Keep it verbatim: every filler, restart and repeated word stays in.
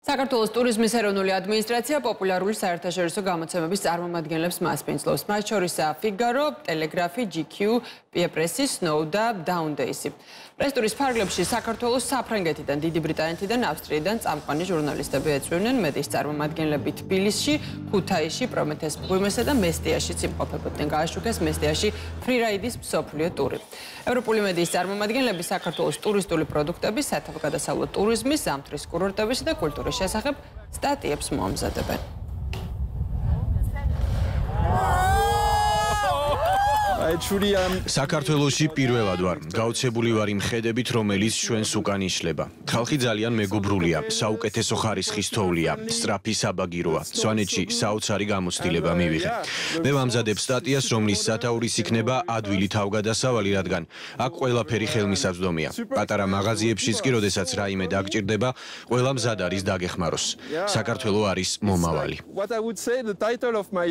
საქართველოს ტურიზმის ეროვნული ადმინისტრაცია პოპულარული საერთაშორისო გამოცემების წარმომადგენლებს მასპინძლობს. მათ შორისაა Figaro, Telegraph, G Q, Press, Snow და Down Days. პრესტურის ფარგლებში საქართველოს საფრანგეთიდან, დიდი ბრიტანეთიდან, ავსტრიიდან წამყვანი ჟურნალისტები ეწვივნენ მედიის წარმომადგენლები თბილისში, ქუთაისში, პრომეთეს მღვიმესა და მესტიაშიც იმყოფებოდნენ. გააშუქეს მესტიაში ფრირაიდის მსოფლიო ტური. ევროპული მედიის წარმომადგენლები საქართველოს ტურისტული პროდუქტების, სათავგადასავლო ტურიზმის, ზამთრის კურორტებისა და კულტურის შესახებ სტატიებს მოამზადებენ. საქართველოში პირველად ვარ. გაოცებული ვარ იმ ხედებით, რომელიც ჩვენს უკან იშლება. ხალხი ძალიან მეგობრულია, საუკეთესო ხარისხის თოვლია, სწრაფი საბაგიროა. სვანეთში საოცარი გამოცდილება მივიღე. მე ვამზადებ სტატიას, რომლის სათაურის იქნება ადვილი თავგადასავალი, რადგან აქ ყველაფერი ხელმისაწვდომია. პატარა მაღაზიებშიც კი, როდესაც რაიმე დაგჭირდება, ყველა მზად არის დაგეხმაროს. საქართველო არის მომავალი.